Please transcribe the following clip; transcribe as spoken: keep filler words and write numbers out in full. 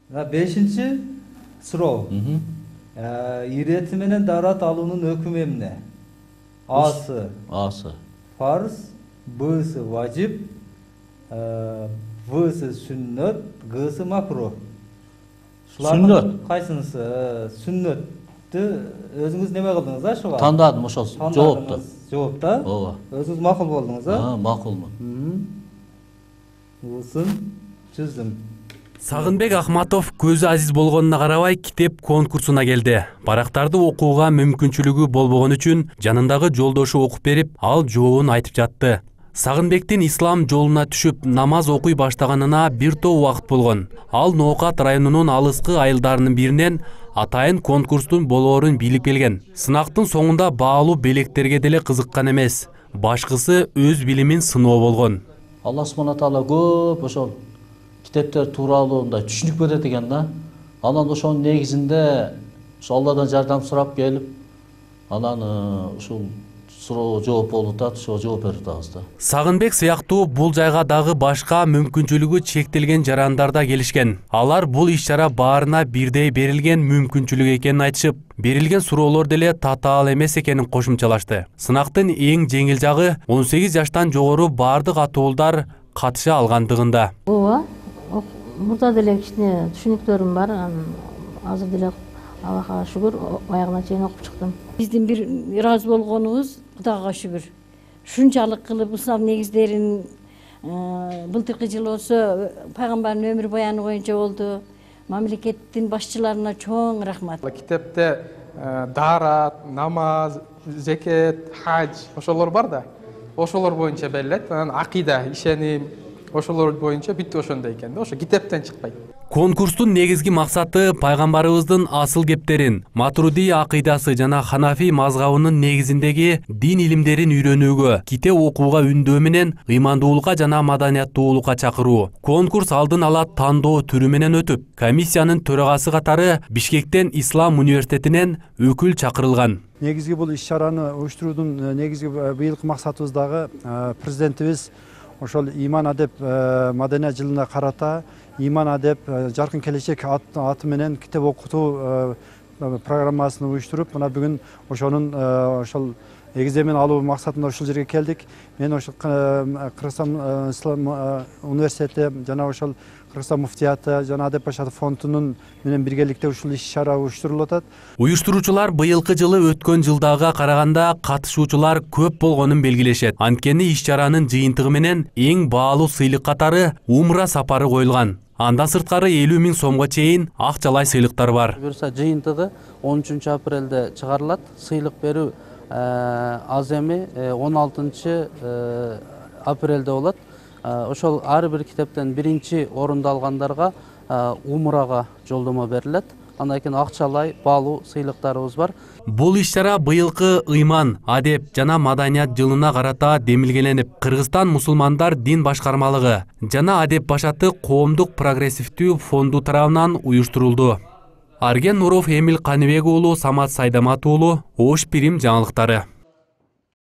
Бешинчи суроо. Ирети менен дарат алуунун өкүмү эмне? Асы. Асы. Фарз, Б'сы важип, В'сы сүннөт, Г'сы макрух. Сүннөт. Кайсынысы? Сүннөттү өзүңүз неме кылдыңыз, а ушуга? Тандадым ошол жоопту. Жоопта? Ооба. Өзүңүз макул болдуңуз, а? А, макулмун. Усын чөздүм. Сагынбек Ахматов көзү азиз болгонуна карабай китеп конкурсуна келди. Барактарды окууга мүмкүнчүлүгү болбогон үчүн жанындагы жолдошу окуп берип, ал жообун айтып жатты. Сагынбектин ислам жолуна түшүп намаз окуй баштаганына бир топ убакыт болгон. Ал Ноокат районунун алыскы айылдарынын биринен атайын конкурстун болоорун билип келген. Сынактын соңунда баалуу белектерге деле кызыккан эмес. Башкысы өз билимин сыноо болгон. Алла субхана таала көп ошол китептер тууралуу мындай түшүнүк берет экен да. Анан ошонун негизинде ошо Алладан жардам сурап келип, анан ушул суроо жооп болуп атат, ошо жооп берип атабыз да. Сагынбек сыяктуу бул жайга дагы башка мүмкүнчүлүгү чектелген жарандар да келишкен. Алар бул иш-чара баарына бирдей берилген мүмкүнчүлүк экенин айтышып, берилген суроолор деле татаал эмес экенин кошумчалашты. Сынактын эң жеңил жагы он сегиз жаштан жогору баардык атуулдар катыша алгандыгында. Ооба, мурда деле кичине түшүнүктөрүм бар. Азыр деле Аллахка шүгүр аягына чейин окуп чыктым. Биздин бир ыраазы болгонубуз Кудайга шүгүр. Шунчалык кылып ислам негиздерин былтыркы жылы болсо пайгамбардын өмүр баяны боюнча болду. Мамлекеттин башчыларына чоң рахмат. Китепте дарат, намаз, зекет, хадж ошолор бар да. Ошолор боюнча берилет. Анан акыйда, ишеним, ошолор боюнча бүт ошондой экен да. Ошо китептен чыкпайт. Конкурстун негизги максаты пайгамбарыбыздын асыл кептерин, Матруди акыйдасы жана Ханафи мазгабынын негизиндеги дин илимдерин үйрөнүүгө, китеп окууга үндөө менен ыймандуулукка жана маданияттуулукка чакыруу. Конкурс алдын ала тандоо түрү менен өтүп, комиссиянын төрагасы катары Бишкектен Ислам университетинен өкүл чакырылган. Негизги бул иш-чараны уюштуруудун негизги быйылкы максатыбыз дагы президентибиз ошол иман адеп маданият жылына карата иман адеп жаркын келечек аты менен китеп окутуу программасын уюштуруп, мына бүгүн ошонун ошол эгиземин алуу максатында ушул жерге келдик. Мен ошол Кыргызстан Ислам университети жана ошол Кыргызстан муфтияты жана Адеп Башатов фондунун менен биргеликте ушул иш-чара уюштурулуп атат. Уюштуруучулар быйылкы жылы өткөн жылдагыга караганда катышуучулар көп болгонун белгилешет. Анткени иш-чаранын жыйынтыгы менен эң баалуу сыйлык катары умра сапары коюлган. Андан сырткары элүү миң сомго чейин акчалай сыйлыктар бар. Буюрса жыйынтыгы он үчүнчү апрелде чыгарылат. Сыйлык берүү аз эми он алтынчы апрелде болот. Ошол ар бир китептен биринчи орунду алгандарга умрага жолдомо берилет. Андан кийин акчалай баалуу сыйлыктарыбыз бар. Бул иш-чара быйылкы ыйман, адеп жана маданият жылына карата демилгеленип, Кыргызстан мусулмандар дин башкармалыгы жана Адеп Башаты коомдук прогрессивдүү фонду тарабынан уюштурулду. Арген Нуров, Эмил Каныбек уулу, Самат Сайдамат уулу, Ош Пирим жаңылыктары.